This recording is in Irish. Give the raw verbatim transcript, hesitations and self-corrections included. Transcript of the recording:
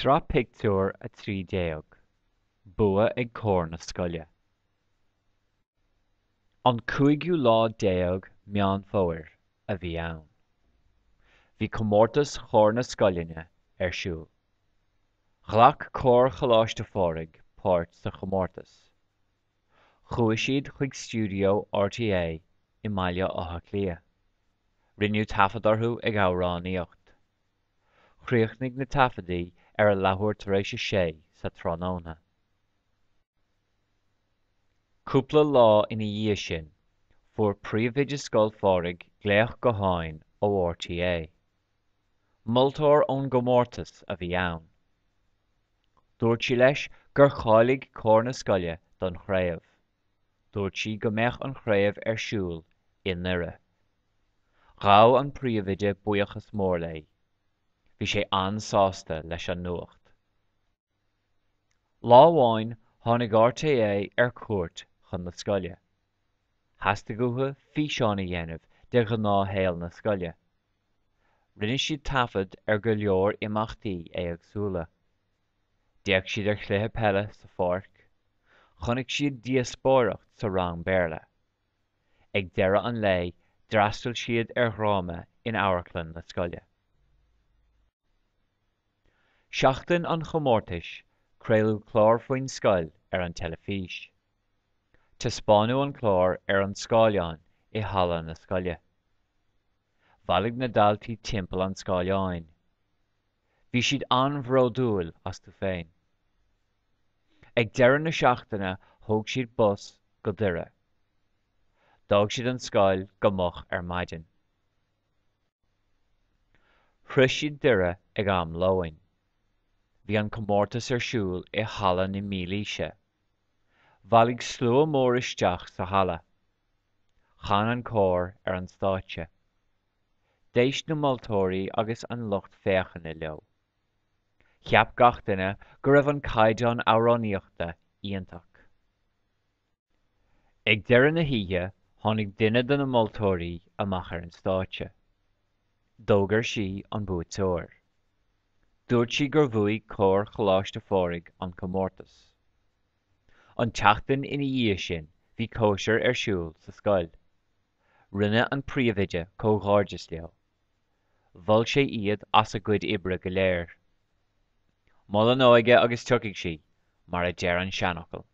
Sraith Pictiúr a trí déag Bua ag Cór na Scoile. An cúigiú lá déag Meán Fómhair a bhí ann. Bhí comórtas chór na scoileanna ar siúl. Ghlac Cór Choláiste Phádraig páirt sa chomórtas. Chuaigh siad chuig stiúideo R T É i mBaile Átha Cliath. Rinneadh taifead orthu ag amhránaíocht. Chríochnaigh na taifeadtaí ar a leathuair tar éis a sé sa tráthnóna. Cúpla lá ina dhiaidh sin, fuair príomhoide Scoil Phádraig glaoch gutháin ó R T É. Moltóir ón gcomórtas a bhí ann. Dúirt sí leis gur cháiligh cór na scoile don chraobh. Dúirt sí go mbeadh an chraobh ar siúl i nDoire. Ghabh an príomhoide buíochas mór léi. Bhí sé an-sásta leis an nuacht. Lá amháin tháinig R T É ar cuairt chun na scoile. Theastaigh uathu físeán a dhéanamh de ghnáthshaol na scoile. Rinne siad taifead ar go leor imeachtaí éagsúla. D'fhéach siad ar chluiche peile sa pháirc, chonaic siad díospóireacht sa rang Béarla. Ag deireadh an lae d'fhreastail siad ar dhráma in amharclann na scoile. Seachtain an chomórtais, craoladh clár faoin scoil ar an teilifís. Taispeánadh an clár ar an scáileán i halla na scoile. Bhailigh na daltaí timpeall an scáileáin. Bhí siad an-bhródúil astu féin. Ag deireadh na seachtaine thóg siad bus go Doire. D'fhág siad an scoil go moch ar maidin. Shroich siad Doire ag am lóin. Bhí an comórtas ar siúl i halla na mílaoise. Bhailigh slua mór isteach sa halla. Chan an cór ar an stáitse. D'éist na moltóirí agus an lucht féachana leo. Cheap gach duine go raibh an caighdeán amhránaíochta iontach. Ag deireadh na hoíche tháinig duine de na moltóirí amach ar an stáitse. D'fhógair sí an buaiteoir. Dúirt sí gur bhuaigh Cór Choláiste Phádraig an comórtas. An tseachtain ina dhiaidh sin bhí cóisir ar siúl sa scoil. Rinne an príomhoide comhghairdeas leo. Mhol sé iad as a gcuid oibre go léir. Mol an óige agus tiocfaidh sí, mar a deir an seanfhocal.